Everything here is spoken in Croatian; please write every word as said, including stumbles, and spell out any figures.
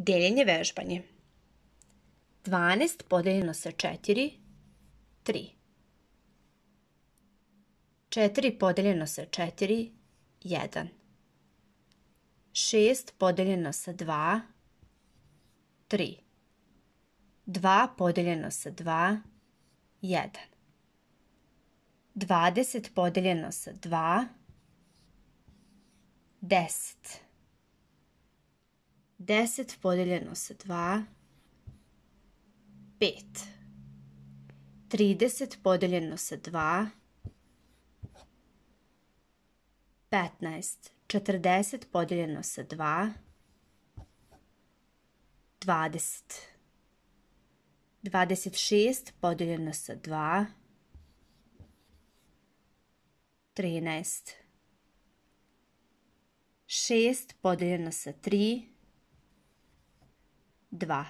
Deljenje vežbanje. dvanaest podeljeno sa četiri, tri. četiri podeljeno sa četiri, jedan. šest podeljeno sa dva, tri. dva podeljeno sa dva, jedan. dvadeset podeljeno sa dva, deset. deset podeljeno sa dva, pet. trideset podeljeno sa dva, petnaest. četrdeset podeljeno sa dva, dvadeset. dvadeset šest podeljeno sa dva, trinaest. šest podeljeno sa tri, dva.